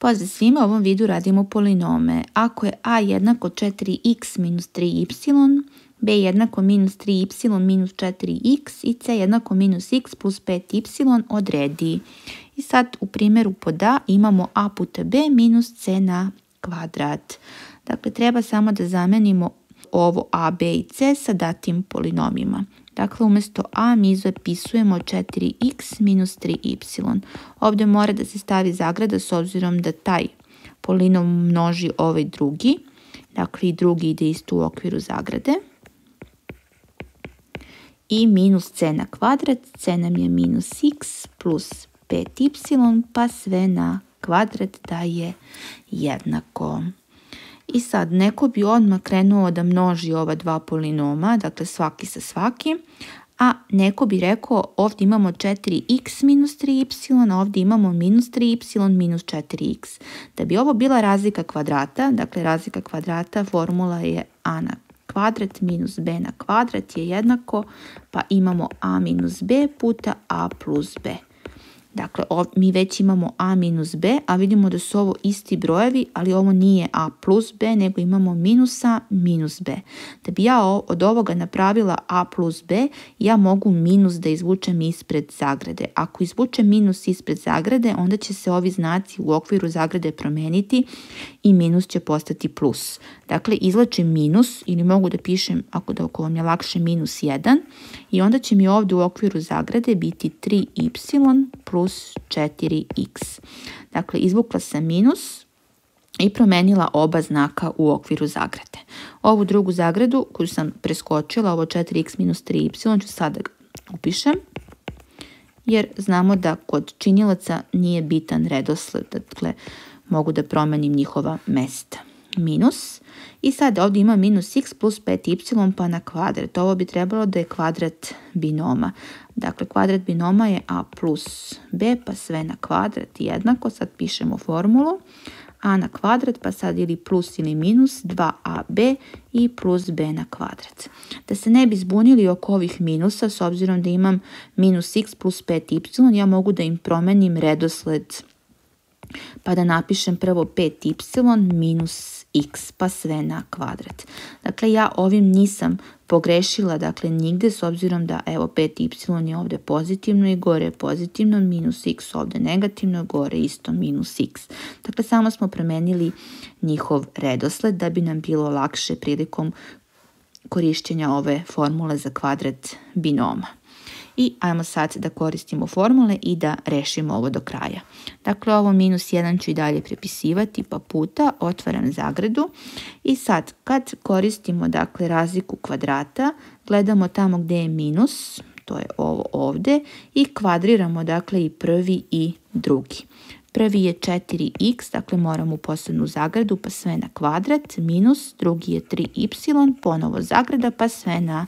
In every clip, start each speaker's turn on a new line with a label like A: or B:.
A: Pozdrav svima, u ovom videu radimo polinome. Ako je a jednako 4x minus 3y, b jednako minus 3y minus 4x i c jednako minus x plus 5y, odredi. I sad u primjeru pod a imamo a puta b minus c na kvadrat. Dakle, treba samo da zamenimo ovo a, b i c sa datim polinomima. Dakle, umjesto a mi zapisujemo 4x minus 3y. Ovdje mora da se stavi zagrada s obzirom da taj polinom množi ovaj drugi. Dakle, i drugi ide isto u okviru zagrade. I minus c na kvadrat. C nam je minus x plus 5y pa sve na kvadrat daje jednako. I sad neko bi odmah krenuo da množi ova dva polinoma, dakle svaki sa svakim, a neko bi rekao ovdje imamo 4x minus 3y, a ovdje imamo minus 3y minus 4x. Da bi ovo bila razlika kvadrata, dakle razlika kvadrata formula je a na kvadrat minus b na kvadrat je jednako, pa imamo a minus b puta a plus b. Dakle, mi već imamo a minus b, a vidimo da su ovo isti brojevi, ali ovo nije a plus b, nego imamo minus a minus b. Da bi ja od ovoga napravila a plus b, ja mogu minus da izvučem ispred zagrade. Ako izvučem minus ispred zagrade, onda će se ovi znaci u okviru zagrade promeniti i minus će postati plus. Dakle, izvlačim minus ili mogu da pišem, ako vam je lakše, minus 1 i onda će mi ovdje u okviru zagrade biti 3y plus 4x. Dakle, izvukla sam minus i promenila oba znaka u okviru zagrade. Ovu drugu zagradu koju sam preskočila, ovo 4x minus 3y, ću sada upišem, jer znamo da kod činilaca nije bitan redosled, dakle mogu da promenim njihova mesta. Minus. I sad ovdje ima minus x plus 5y pa na kvadrat. Ovo bi trebalo da je kvadrat binoma. Dakle, kvadrat binoma je a plus b pa sve na kvadrat jednako. Sad pišemo formulu. A na kvadrat pa sad ili plus ili minus 2ab i plus b na kvadrat. Da se ne bi zbunili oko ovih minusa, s obzirom da imam minus x plus 5y, ja mogu da im promenim redosled. Pa da napišem prvo 5y minus x pa sve na kvadrat. Dakle, ja ovim nisam pogrešila, dakle, nigde, s obzirom da, evo, 5y je ovdje pozitivno i gore je pozitivno, minus x ovdje negativno, gore isto minus x. Dakle, samo smo promenili njihov redosled da bi nam bilo lakše prilikom korištenja ove formule za kvadrat binoma. I ajmo sad da koristimo formule i da rešimo ovo do kraja. Dakle, ovo minus 1 ću i dalje prepisivati, pa puta, otvaram zagradu. I sad, kad koristimo, dakle, razliku kvadrata, gledamo tamo gdje je minus, to je ovo ovdje, i kvadriramo, dakle, i prvi i drugi. Prvi je 4x, dakle moramo u posebnu zagradu, pa sve na kvadrat, minus, drugi je 3y, ponovo zagrada, pa sve na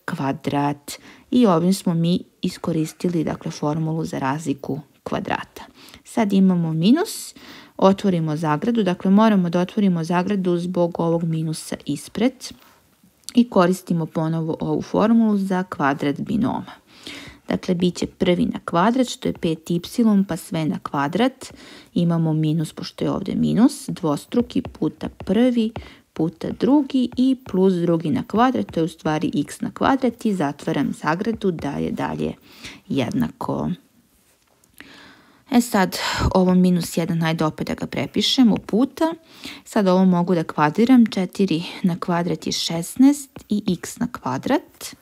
A: kvadrat. I ovim smo mi iskoristili, dakle, formulu za razliku kvadrata. Sad imamo minus, otvorimo zagradu, dakle moramo da otvorimo zagradu zbog ovog minusa ispred i koristimo ponovo ovu formulu za kvadrat binoma. Dakle, bit će prvi na kvadrat, što je 5y, pa sve na kvadrat. Imamo minus, pošto je ovdje minus, dvostruki puta prvi puta drugi i plus drugi na kvadrat, to je u stvari x na kvadrat i zatvaram zagradu da je dalje jednako. E sad, ovo minus 1, hajde opet da ga prepišemo puta. Sad ovo mogu da kvadriram, 4 na kvadrat je 16 i x na kvadrat.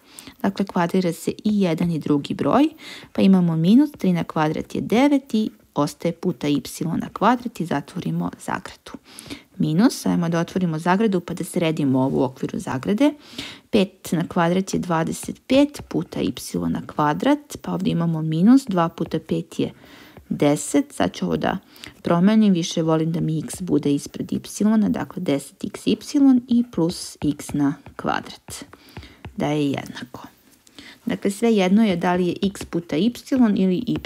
A: Dakle, kvadrira se i jedan i drugi broj, pa imamo minus 3 na kvadrat je 9 i ostaje puta y na kvadrat i zatvorimo zagradu. Minus, ajmo da otvorimo zagradu pa da sredimo ovo u okviru zagrade. 5 na kvadrat je 25 puta y na kvadrat, pa ovdje imamo minus, 2 puta 5 je 10, sad ću ovo da promenim, više volim da mi x bude ispred y, dakle 10xy i plus x na kvadrat, da je jednako. Dakle, sve jedno je da li je x puta y ili y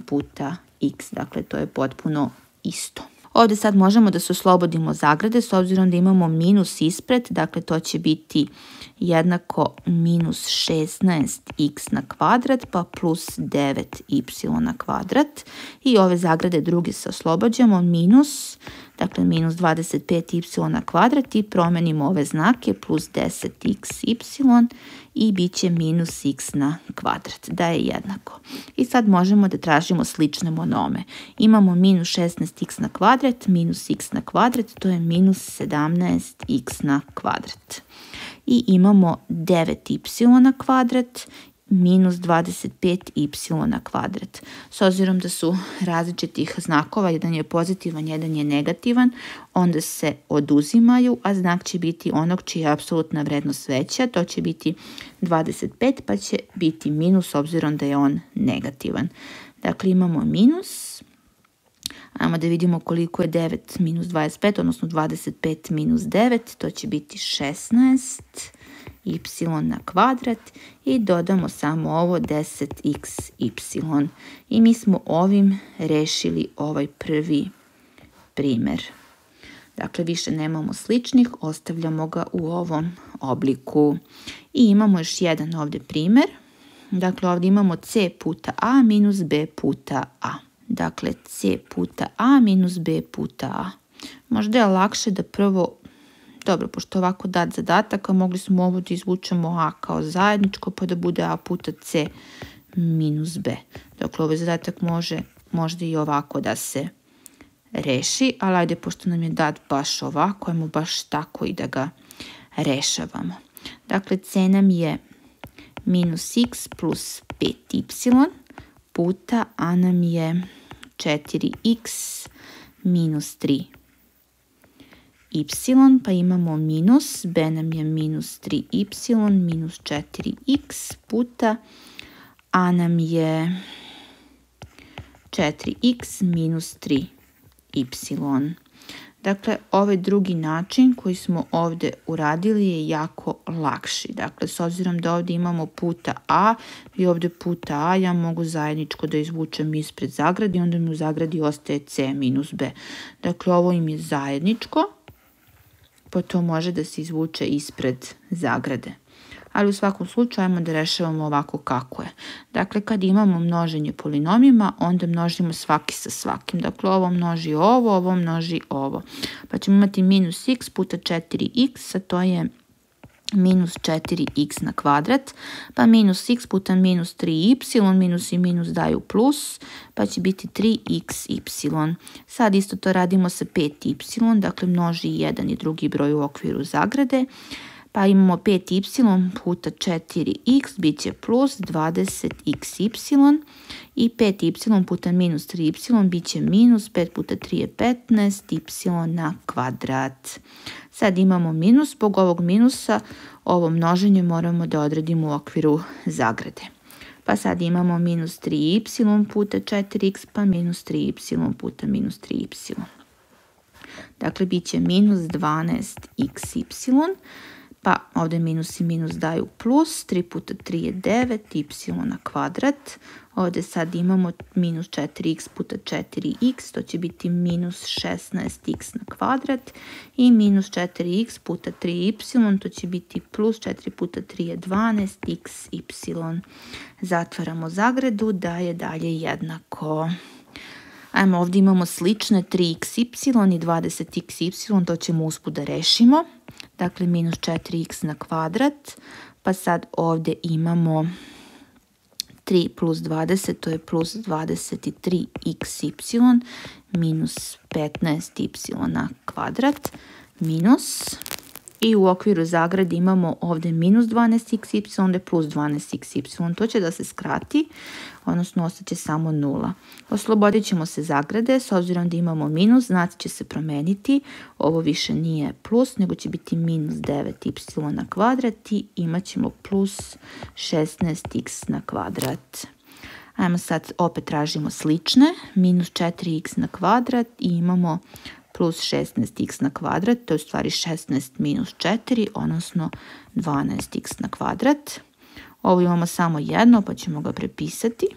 A: puta x, dakle to je potpuno isto. Ovdje sad možemo da se oslobodimo zagrade s obzirom da imamo minus ispred, dakle to će biti jednako minus 16x na kvadrat pa plus 9y na kvadrat. I ove zagrade druge se oslobađamo, minus, dakle minus 25y na kvadrat i promenimo ove znake, plus 10xy i bit će minus x na kvadrat, da je jednako. I sad možemo da tražimo slične monome. Imamo minus 16x na kvadrat, minus x na kvadrat, to je minus 17x na kvadrat. I imamo 9y na kvadrat minus 25y na kvadrat. S obzirom da su različitih znakova, jedan je pozitivan, jedan je negativan, onda se oduzimaju, a znak će biti onog čija je apsolutna vrednost veća, to će biti 25, pa će biti minus s obzirom da je on negativan. Dakle, imamo minus. Ajmo da vidimo koliko je 9 minus 25, odnosno 25 minus 9, to će biti 16 y na kvadrat i dodamo samo ovo 10xy. I mi smo ovim rešili ovaj prvi primer. Dakle, više nemamo sličnih, ostavljamo ga u ovom obliku. I imamo još jedan ovdje primer. Dakle, ovdje imamo c puta a minus b puta a. Dakle, c puta a minus b puta a. Možda je lakše da prvo, dobro, pošto ovako dat zadatak, a mogli smo ovo da izvučemo a kao zajedničko, pa da bude a puta c minus b. Dakle, ovaj zadatak može možda i ovako da se reši, ali ajde, pošto nam je dat baš ovako, ajmo baš tako i da ga rešavamo. Dakle, c nam je minus x plus 5y puta a nam je 4x minus 3y, pa imamo minus, b nam je minus 3y minus 4x puta a nam je 4x minus 3y. Dakle, ovaj drugi način koji smo ovdje uradili je jako lakši. Dakle, s obzirom da ovdje imamo puta a i ovdje puta a, ja mogu zajedničko da izvučem ispred zagradi, onda mi u zagradi ostaje c minus b. Dakle, ovo im je zajedničko, pa to može da se izvuče ispred zagrade. Ali u svakom slučaju ajmo da rešavamo ovako kako je. Dakle, kad imamo množenje polinomima, onda množimo svaki sa svakim. Dakle, ovo množi ovo, ovo množi ovo. Pa ćemo imati minus x puta 4x, a to je minus 4x na kvadrat, pa minus x puta minus 3y, minus i minus daju plus, pa će biti 3xy. Sad isto to radimo sa 5y, dakle množi jedan i drugi broj u okviru zagrade, pa imamo 5y puta 4x, bit će plus 20xy i 5y puta minus 3y bit će minus 5 puta 3 je 15y na kvadrat. Sad imamo minus, zbog ovog minusa ovo množenje moramo da odredimo u okviru zagrade. Pa sad imamo minus 3y puta 4x pa minus 3y puta minus 3y. Dakle, bit će minus 12xy. Pa ovdje minus i minus daju plus, 3 puta 3 je 9, y na kvadrat. Ovdje sad imamo minus 4x puta 4x, to će biti minus 16x na kvadrat. I minus 4x puta 3y, to će biti plus 4 puta 3 je 12xy. Zatvaramo zagradu, da je dalje jednako. Ajmo, ovdje imamo slične 3xy i 20xy, to ćemo usput da rešimo. Dakle, minus 4x na kvadrat, pa sad ovdje imamo 3 plus 20, to je plus 23xy, minus 15y na kvadrat, minus, i u okviru zagrade imamo ovdje minus 12xy, onda plus 12xy, to će da se skrati, odnosno ostaće samo 0. Oslobodit ćemo se zagrade, s obzirom da imamo minus, znaci će se promeniti, ovo više nije plus, nego će biti minus 9y na kvadrat i imat ćemo plus 16x na kvadrat. Ajmo sad opet tražimo slične, minus 4x na kvadrat i imamo plus 16x na kvadrat, to je u stvari 16 minus 4, odnosno 12x na kvadrat. Ovo imamo samo jedno, pa ćemo ga prepisati.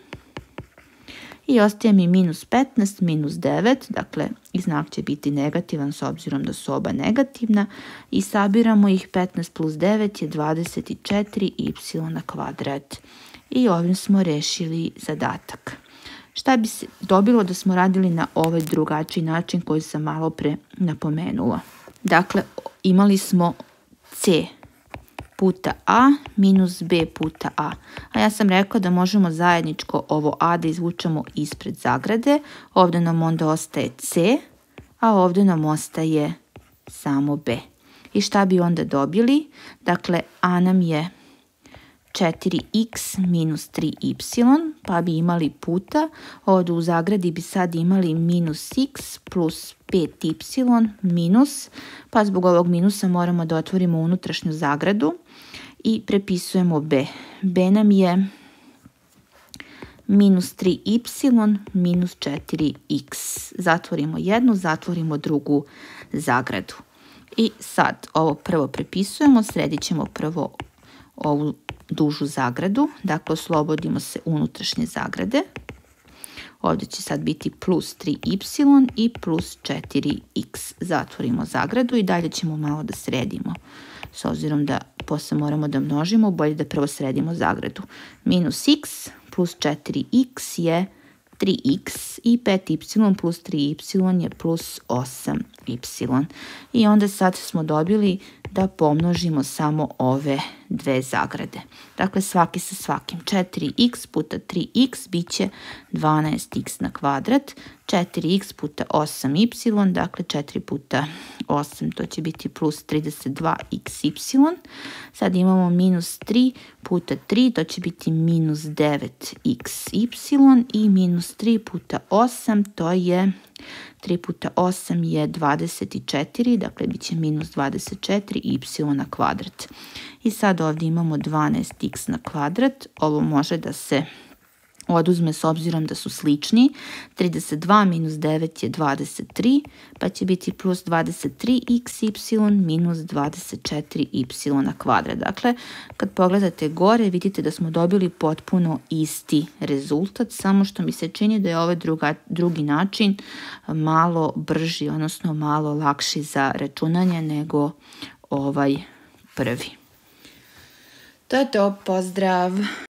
A: I ostaje mi minus 15 minus 9, dakle i znak će biti negativan s obzirom da su oba negativna i sabiramo ih. 15 plus 9 je 24y na kvadrat. I ovim smo rešili zadatak. Šta bi se dobilo da smo radili na ovaj drugačiji način koji sam malo pre napomenula? Dakle, imali smo c puta a minus b puta a. A ja sam rekla da možemo zajedničko ovo a da izvučemo ispred zagrade. Ovdje nam onda ostaje c, a ovdje nam ostaje samo b. I šta bi onda dobili? Dakle, a nam je 4x minus 3y, pa bi imali puta, ovdje u zagradi bi sad imali minus x plus 5y minus, pa zbog ovog minusa moramo da otvorimo unutrašnju zagradu i prepisujemo b. b nam je minus 3y minus 4x. Zatvorimo jednu, zatvorimo drugu zagradu. I sad ovo prvo prepisujemo, sredit ćemo prvo ovu dužu zagradu, dakle oslobodimo se unutrašnje zagrade. Ovdje će sad biti plus 3y i plus 4x. Zatvorimo zagradu i dalje ćemo malo da sredimo. S obzirom da posle moramo da množimo, bolje da prvo sredimo zagradu. Minus x plus 4x je 3x i 5y plus 3y je plus 8y. I onda sad smo dobili da pomnožimo samo ove dve zagrade. Dakle, svaki sa svakim. 4x puta 3x bit će 12x na kvadrat. 4x puta 8y, dakle 4 puta 8, to će biti plus 32xy. Sad imamo minus 3 puta 3, to će biti minus 9xy i minus 3 puta 8, to je 3 puta 8 je 24, dakle bit će minus 24y na kvadrat. I sad ovdje imamo 12x na kvadrat, ovo može da se oduzme s obzirom da su slični. 32 minus 9 je 23, pa će biti plus 23xy minus 24y na kvadrat. Dakle, kad pogledate gore, vidite da smo dobili potpuno isti rezultat, samo što mi se čini da je ovaj drugi način malo brži, odnosno malo lakši za računanje nego ovaj prvi. To je to, pozdrav!